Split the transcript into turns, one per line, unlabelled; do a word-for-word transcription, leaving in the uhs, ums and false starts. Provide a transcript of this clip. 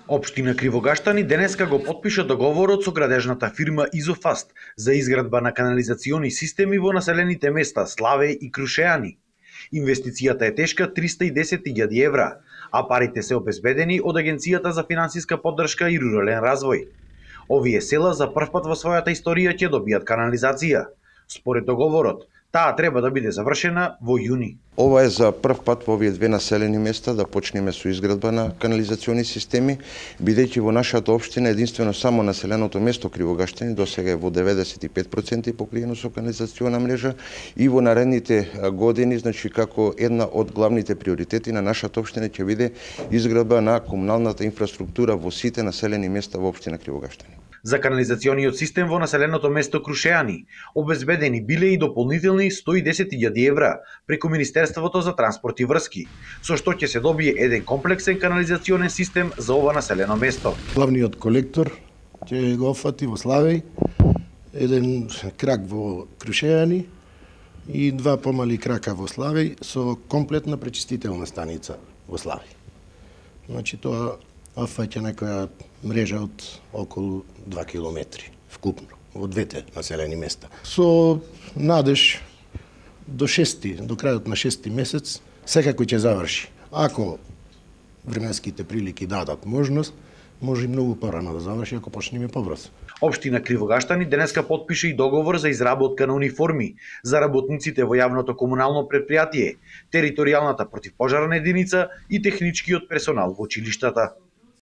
Општина Кривогаштани денеска го потпиша договорот со градежната фирма Изофаст за изградба на канализациони системи во населените места Славеј и Крушеани. Инвестицијата е тешка триста и десет илјади евра, а парите се обезбедени од Агенцијата за финансиска поддршка и рурален развој. Овие села за првпат во својата историја ќе добијат канализација. Според договорот, таа треба да биде завршена во јуни.
Ова е за прв пат во овие две населени места да почнеме со изградба на канализациони системи, бидејќи во нашата општина единствено само населеното место Кривогаштани досега е во деветдесет и пет проценти покриено со канализациона мрежа и во наредните години, значи како една од главните приоритети на нашата општина ќе биде изградба на комуналната инфраструктура во сите населени места во општина Кривогаштани.
За канализациониот систем во населеното место Крушеани обезбедени биле и дополнителни сто и десет илјади евра преку Министерството за транспорт и врски, со што ќе се добие еден комплексен канализационен систем за ова населено место.
Главниот колектор ќе го офати во Славеј, еден крак во Крушеани и два помали крака во Славеј со комплетна пречистителна станица во Славеј. Значи тоа офаќа некоја мрежа од околу два километри вкупно во двете населени места. Со надеж до шести, до крајот на шести месец секако ќе заврши. Ако временските прилики дадат можност, може и многу порано да заврши ако почнеме побрзо.
Општина Кривогаштани денеска потпиша и договор за изработка на униформи за работниците во јавното комунално предпријатие, територијалната противпожарна единица и техничкиот персонал во училиштата.